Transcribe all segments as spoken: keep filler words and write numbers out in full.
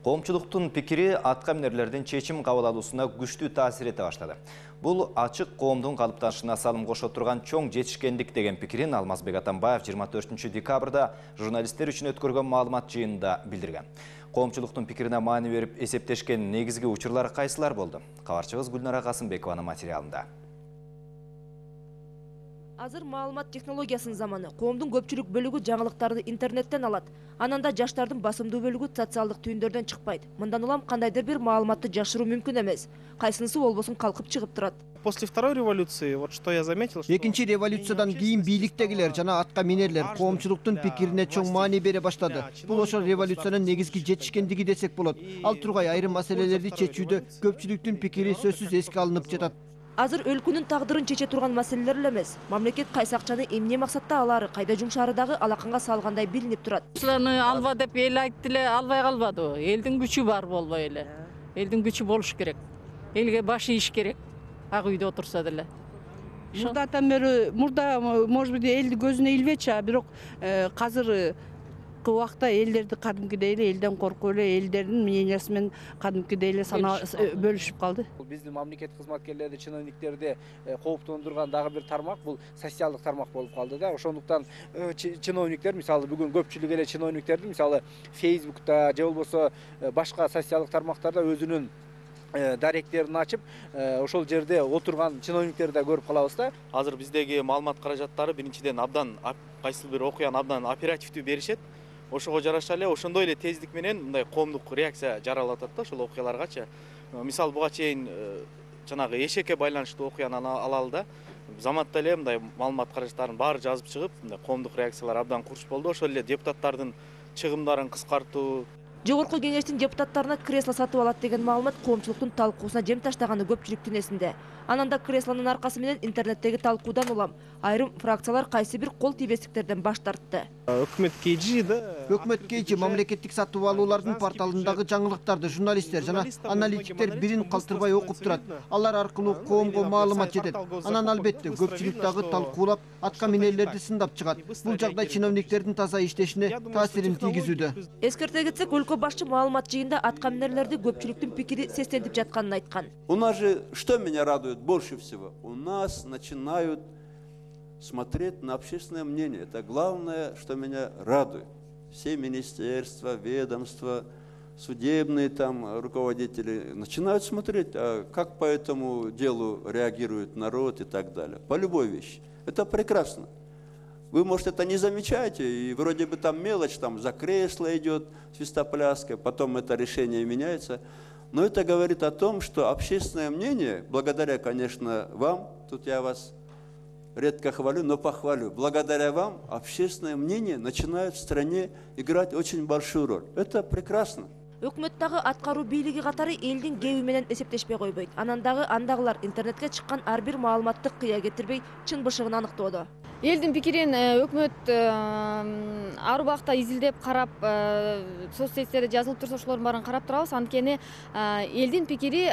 Коомчулуктун пикири атка минерлердин чечим кабыл алуусуна күчтүү таасир эте баштады. Бул ачык коомдун калыптанышына салым кошо турган чоң жетишкендик деген пикирин Алмазбек Атамбаев жыйырма төртүнчү декабрда журналисттер үчүн өткөргөн маалымат жыйынында билдирген. Коомчулуктун пикирине маани берип эсептешкен негизги учурлар кайсылар болду? Кабарчыбыз Гүлнара Касымбекованын материалында. Азыр маалымат технологиясынын заманы. Коомдун көпчүлүк бөлүгү жаңылыктарды интернеттен алат. Анан да жаштардын басымдуу бөлүгү социалдык түйүндөрдөн чыкпайт. Мындан улам кандайдыр бир маалыматты жашыруу мүмкүн эмес. Кайсынысы болбосун калкып чыгып турат. После второй революции, вот что я заметил, что... Экинчи революциядан кийин бийликтегилер жана атка минерлер коомчулуктун пикирине чоң маани бере баштады. Бул ошол революциянын негизги жетишкендиги десек болот. Ал тургай айрым маселелерди чечүүдө көпчүлүктүн пикири сөзсүз эске алынып жатат. Азыр өлкөнүн тагдырын чече турган маселелер эле эмес. Мамлекет кайсы акчаны эмне максатта алаары, кайда жумшаары дагы алаканга салгандай билинип турат. Ушуларны алба деп эл айтты эле, албай калбады. Элдин күчү бар болбой эле. Элдин күчү болуш керек. Элге баш ийиш керек. Ак үйдө отурса деле. Мурдатан бери, мурда может быть элди көзүнө илбечи, а бирок азыр убакта элдерди кадимкидей эле элден коркуп эле элдердин мнениясы менен кадимкидей эле сана бөлүшүп калды. Биздин мамлекет кызматкерлерди, чиновниктерди кооптондурган дагы бир тармак бул социалдык тармак болуп калды да. Ошондуктан чиновниктер, мисалы бүгүн көпчүлүк эле чиновниктерди мисалы Facebook'та же болбосо башка социалдык тармактарда өзүнүн даректерин ачып, ошол жерде отурган чиновниктерди да көрүп калабыз да. Азыр биздеги маалымат каражаттары биринчиден абдан кайсыл бир окуяны абдан оперативдүү беришет. Ошого жараша эле ошондой эле тездик менен мындай коомдук реакция жаралып атат да ошол окуяларгачы. Мисалы буга чейин жанагы эшекке байланыштуу окуяны алалы да. Заматта эле мындай маалымат каражаттарын баары жазып чыгып, мындай коомдук реакциялар абдан курч болду. Ошол эле депутаттардын чыгымдарын кыскартуу. Жогорку кеңештин депутаттарына кресло сатып алат деген маалымат коомчулуктун талкуусуна жем таштаганы көпчүлүктүн эсинде. Анан да креслонун аркасы менен интернеттеги талкуудан улам айрым фракциялар кайсы бир кол тийбестиктерден баш тартты. Өкмөт КЖ да. Өкмөт КЖ мамлекеттик сатып алуулардын порталындагы жаңылыктарды журналисттер жана аналитиктер бирин калтырбай окуп турат. Алар аркылуу коомго маалымат жетет. Анан албетте көпчүлүк дагы талкуулап, атка минерлерди сындап чыгат. Бул жагдай чиновниктердин таза иштешине таасирин тийгизүүдө. Эскерте кетсек, өлкө башчы маалымат жыйында атка минерлерди көпчүлүктүн пикири сестентип жатканын айткан. У нас же что меня радует больше всего? У нас начинают смотреть на общественное мнение. Это главное, что меня радует. Все министерства, ведомства, судебные там руководители начинают смотреть, а как по этому делу реагирует народ и так далее. По любой вещи. Это прекрасно. Вы, может, это не замечаете, и вроде бы там мелочь, там за кресло идет свистопляска, потом это решение меняется. Но это говорит о том, что общественное мнение, благодаря, конечно, вам, тут я вас редко хвалю, но похвалю, благодаря вам общественное мнение начинает в стране играть очень большую роль. Это прекрасно. Өкмөт дагы аткаруу бийлиги катары элдин кеби менен эсептешпей койбойт. Анан дагы андагылар интернетке чыккан ар бир маалыматты кыя кетирбей, чын бышыгын аныктоодо. Элдин пикирин өкмөт ар убакта изилдеп карап, соцсеттерде жазылып турса ошолордун баарын карап турабыз. Анткени элдин пикири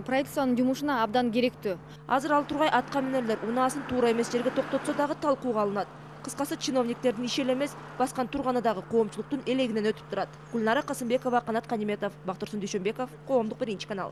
правительствонун жумушуна абдан керектүү. Азыр ал тургай атка минерлер унаасын туура эмес жерге токтотсо дагы талкууга алынат. Кыскасы чиновниктердин иши эле эмес, баскан турганы дагы коомчулуктун элегинен өтүп турат. Гүлнара Касымбекова, Канат Каниметов, Бактырсын Дүйшөнбеков, Коомдук биринчи канал.